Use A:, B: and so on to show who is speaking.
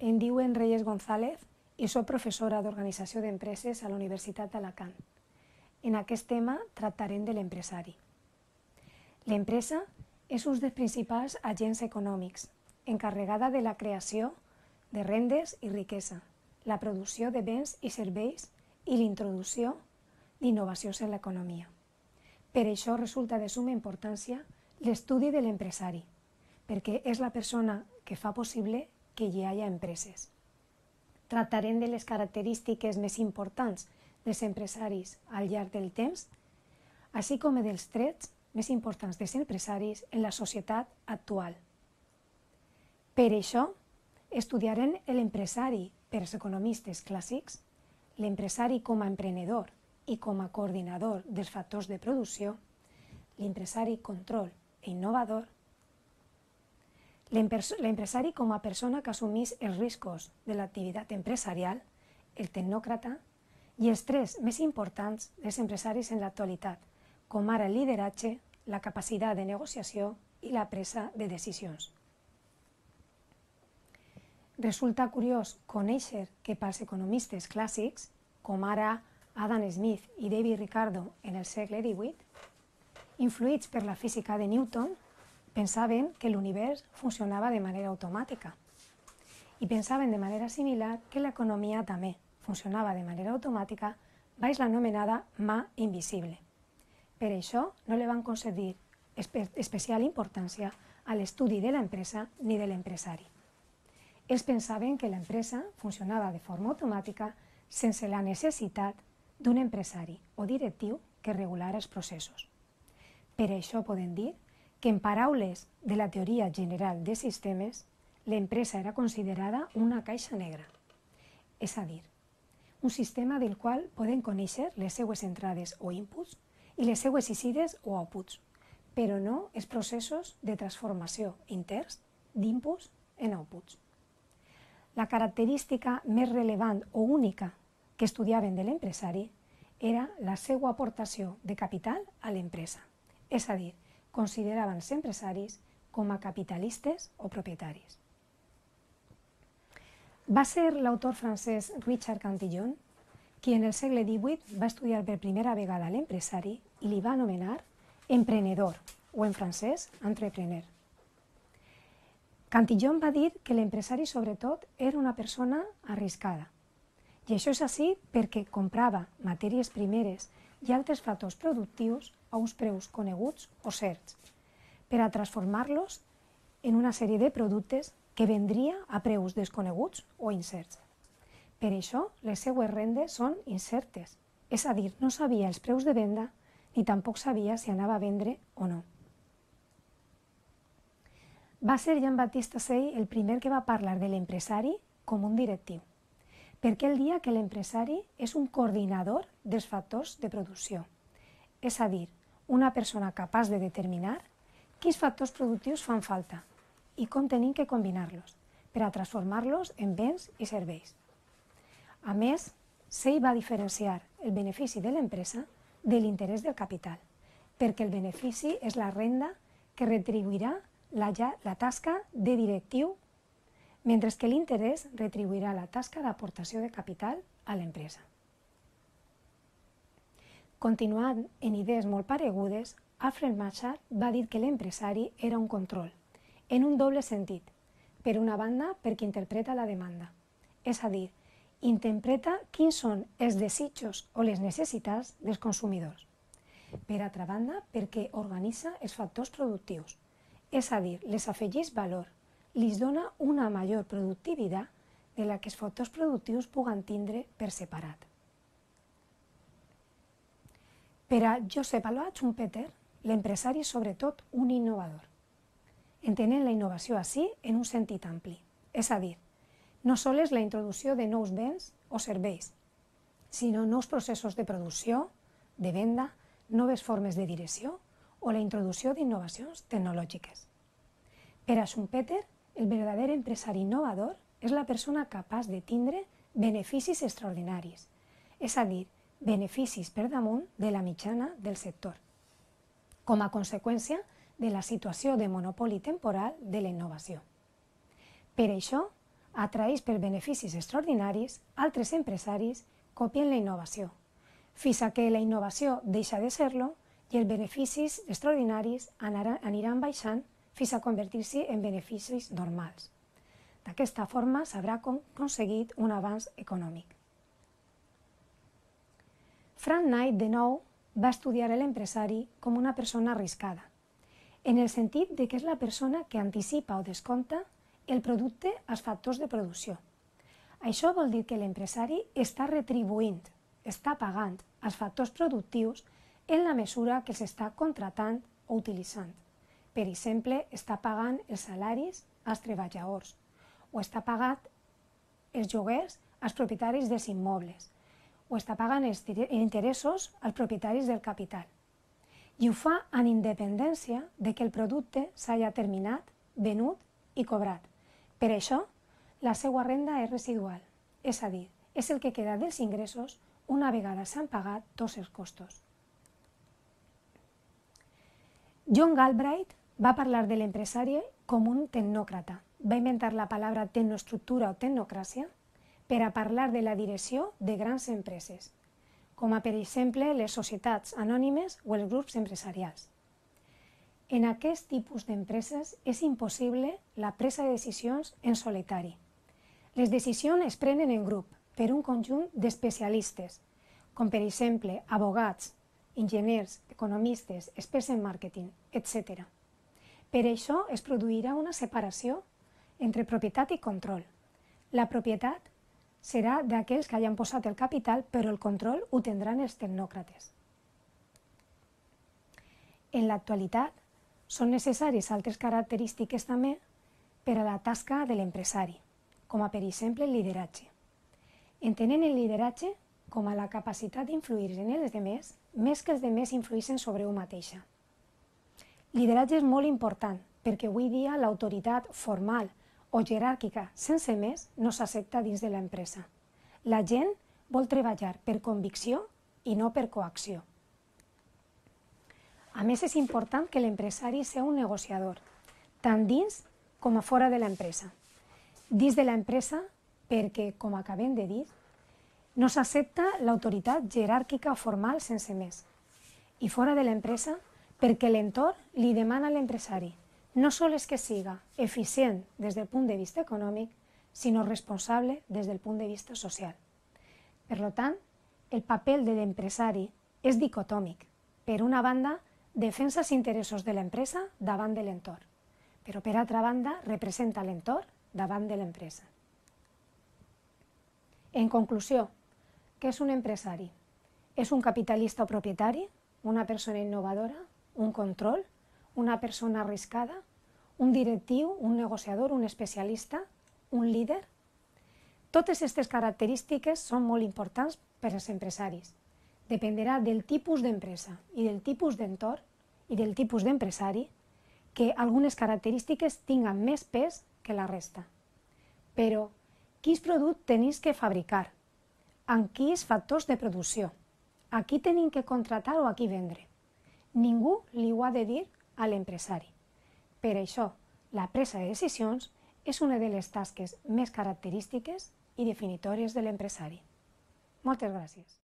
A: em diuen Reyes González i soc professora d'Organització d'Empreses a la Universitat d'Alacant. En aquest tema tractarem de l'empresari. L'empresa és un dels principals agents econòmics, encarregada de la creació de rendes i riquesa, la producció de béns i serveis i l'introducció d'innovacions en l'economia. Per això resulta de summa importància l'estudi de l'empresari, perquè és la persona que fa possible que hi hagi empreses. Tractarem de les característiques més importants dels empresaris al llarg del temps, així com dels trets més importants dels empresaris en la societat actual. Per això, estudiarem l'empresari per als economistes clàssics, l'empresari com a emprenedor i com a coordinador dels factors de producció, l'empresari control i innovador, l'empresari com a persona que assumís els riscos de l'activitat empresarial, el tecnòcrata, i els tres més importants dels empresaris en l'actualitat, com ara el lideratge, la capacitat de negociació i la presa de decisions. Resulta curiós conèixer que pels economistes clàssics, com ara Adam Smith i David Ricardo en el segle XVIII, influïts per la física de Newton, pensaven que l'univers funcionava de manera automàtica i pensaven de manera similar que l'economia també funcionava de manera automàtica baix l'anomenada mà invisible. Per això no li van concedir especial importància a l'estudi de l'empresa ni de l'empresari. Ells pensaven que l'empresa funcionava de forma automàtica sense la necessitat d'un empresari o directiu que regulara els processos. Per això podem dir que en paraules de la teoria general de sistemes, l'empresa era considerada una caixa negra, és a dir, un sistema del qual podem conèixer les seues entrades o inputs i les seues eixides o outputs, però no els processos de transformació interns d'inputs en outputs. La característica més rellevant o única que estudiaven de l'empresari era la seva aportació de capital a l'empresa, és a dir, consideraven els empresaris com a capitalistes o propietaris. Va ser l'autor francès Richard Cantillon qui en el segle XVIII va estudiar per primera vegada l'empresari i li va anomenar emprenedor, o en francès, entrepreneur. Cantillon va dir que l'empresari sobretot era una persona arriscada, i això és així perquè comprava matèries primeres i altres factors productius a uns preus coneguts o certs, per a transformar-los en una sèrie de productes que vendria a preus desconeguts o incerts. Per això, les seues rendes són incertes, és a dir, no sabia els preus de venda ni tampoc sabia si anava a vendre o no. Va ser Jean-Baptiste Say el primer que va parlar de l'empresari com un directiu, perquè ell dia que l'empresari és un coordinador dels factors de producció, és a dir, una persona capaç de determinar quins factors productius fan falta i com tenim que combinar-los per a transformar-los en béns i serveis. A més, Say va diferenciar el benefici de l'empresa de l'interès del capital, perquè el benefici és la renda que retribuirà la tasca de directiu, mentre que l'interès retribuirà la tasca d'aportació de capital a l'empresa. Continuant en idees molt paregudes, Alfred Machar va dir que l'empresari era un control, en un doble sentit. Per una banda, perquè interpreta la demanda, és a dir, interpreta quins són els desitjos o les necessitats dels consumidors. Per altra banda, perquè organitza els factors productius, és a dir, les afegeix valor, li dona una major productivitat de la que els factors productius puguen tindre per separat. Per a Joseph Alois Schumpeter, l'empresari és sobretot un innovador, entenent la innovació així en un sentit ampli, és a dir, no sols la introducció de nous béns o serveis, sinó nous processos de producció, de venda, noves formes de direcció o la introducció d'innovacions tecnològiques. Per a Schumpeter, el verdader empresari innovador és la persona capaç de tindre beneficis extraordinaris, és a dir, beneficis per damunt de la mitjana del sector, com a conseqüència de la situació de monopoli temporal de la innovació. Per això, atraïts per beneficis extraordinaris, altres empresaris copien la innovació, fins que la innovació deixa de ser-lo i els beneficis extraordinaris aniran baixant fins a convertir-se en beneficis normals. D'aquesta forma s'haurà aconseguit un avanç econòmic. Frank Knight, de nou, va estudiar l'empresari com una persona arriscada, en el sentit que és la persona que anticipa o descompta el producte als factors de producció. Això vol dir que l'empresari està retribuint, està pagant els factors productius en la mesura que s'està contratant o utilitzant. Per exemple, està pagant els salaris als treballadors o està pagant els lloguers als propietaris dels immobles o està pagant els interessos als propietaris del capital. I ho fa en independència de que el producte s'hagi terminat, venut i cobrat. Per això, la seva renda és residual, és a dir, és el que queda dels ingressos una vegada s'han pagat tots els costos. John Galbraith va parlar de l'empresari com un tecnòcrata. Va inventar la paraula tecnoestructura o tecnocràcia per a parlar de la direcció de grans empreses, com per exemple les societats anònimes o els grups empresarials. En aquest tipus d'empreses és impossible la presa de decisions en solitari. Les decisions es prenen en grup per un conjunt d'especialistes, com per exemple abogats, enginyers, economistes, experts en màrqueting, etc. Per això es produirà una separació entre propietat i control. La propietat serà d'aquells que hayan posat el capital, però el control ho tindran els tecnòcrates. En l'actualitat, són necessàries altres característiques també per a la tasca de l'empresari, com per exemple el lideratge. Entenent el lideratge com a la capacitat d'influir en els demés més que els demés influïssin sobre un mateixa. Lideratge és molt important perquè avui dia l'autoritat formal o jeràrquica sense més no s'accepta dins de l'empresa. La gent vol treballar per convicció i no per coacció. A més, és important que l'empresari sigui un negociador, tant dins com a fora de l'empresa. Dins de l'empresa, perquè, com acabem de dir, no s'accepta l'autoritat jeràrquica o formal sense més. I fora de l'empresa, perquè l'entorn li demana a l'empresari no sols que siga eficient des del punt de vista econòmic, sinó responsable des del punt de vista social. Per tant, el paper de l'empresari és dicotòmic. Per una banda, defensa els interessos de l'empresa davant de l'entorn, però per altra banda representa l'entorn davant de l'empresa. En conclusió, què és un empresari? És un capitalista o propietari, una persona innovadora, un control, una persona arriscada, un directiu, un negociador, un especialista, un líder? Totes aquestes característiques són molt importants per als empresaris. Dependrà del tipus d'empresa i del tipus d'entorn i del tipus d'empresari que algunes característiques tinguen més pes que la resta. Però, quins productes tenim que fabricar? Amb quins factors de producció? A qui tenim que contratar o a qui vendre? Ningú li ho ha de dir a l'empresari. Per això, la presa de decisions és una de les tasques més característiques i definitòries de l'empresari. Moltes gràcies.